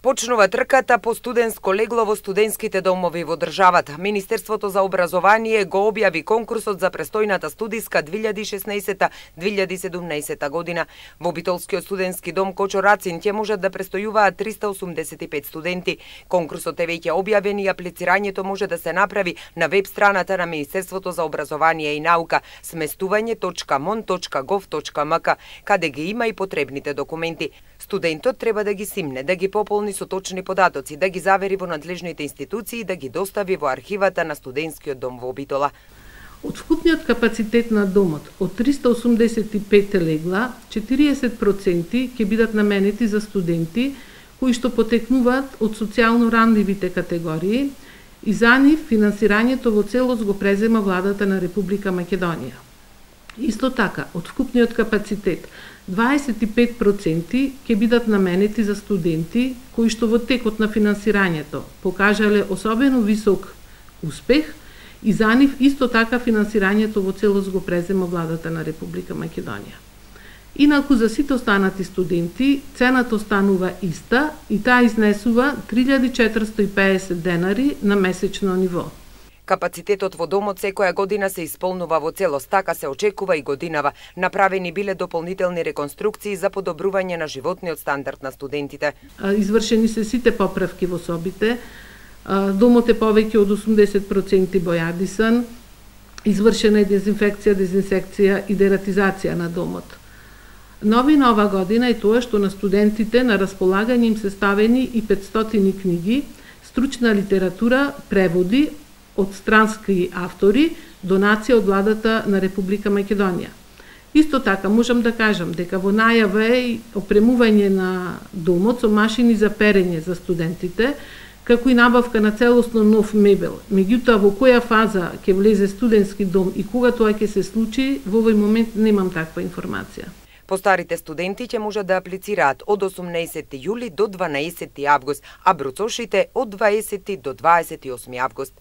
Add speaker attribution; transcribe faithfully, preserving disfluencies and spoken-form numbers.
Speaker 1: Почнува трката по студентско легло во студентските домови во државата. Министерството за образование го објави конкурсот за престојната студиска две илјади и шеснаесета - две илјади и седумнаесета година. Во Битолскиот студентски дом Кочо Рацин ќе можат да престојуваат триста осумдесет и пет студенти. Конкурсот е веќе објавен и аплицирањето може да се направи на веб страната на Министерството за образование и наука сместување точка мон точка гов точка мк, каде ги има и потребните документи. Студентот треба да ги симне, да ги пополни со точни податоци, да ги завери во надлежните институции и да ги достави во архивата на студентскиот дом во Битола.
Speaker 2: Од вкупниот капацитет на домот, од триста осумдесет и пет легла, четириесет проценти ќе бидат наменети за студенти кои што потекнуваат од социјално ранливите категории и за нив финансирањето во целост го презема владата на Република Македонија. Исто така, од вкупниот капацитет, дваесет и пет проценти ќе бидат наменети за студенти кои што во текот на финансирањето покажале особено висок успех и за нив исто така финансирањето во целост го презема владата на Република Македонија. Инаку за сите останати студенти цената останува иста и таа изнесува три илјади четиристо и педесет денари на месечно ниво.
Speaker 1: Капацитетот во домот секоја година се исполнува во целост, така се очекува и годинава. Направени биле дополнителни реконструкции за подобрување на животниот стандард на студентите.
Speaker 2: Извршени се сите поправки во собите. Домот е повеќе од осумдесет проценти бојадисан. Извршена е дезинфекција, дезинсекција и дератизација на домот. Новина ова година е тоа што на студентите на располагање им се ставени и петстотини книги, стручна литература, преводи од странски автори, донација од владата на Република Македонија. Исто така можам да кажам дека во најава е и опремување на домот со машини за перење за студентите, како и набавка на целосно нов мебел. Меѓутоа, во која фаза ќе влезе студентски дом и кога тоа ќе се случи, во овој момент немам таква информација.
Speaker 1: Постарите студенти ќе можат да аплицираат од осумнаесети јули до дванаесети август, а бруцошите од дваесети до дваесет и осми август.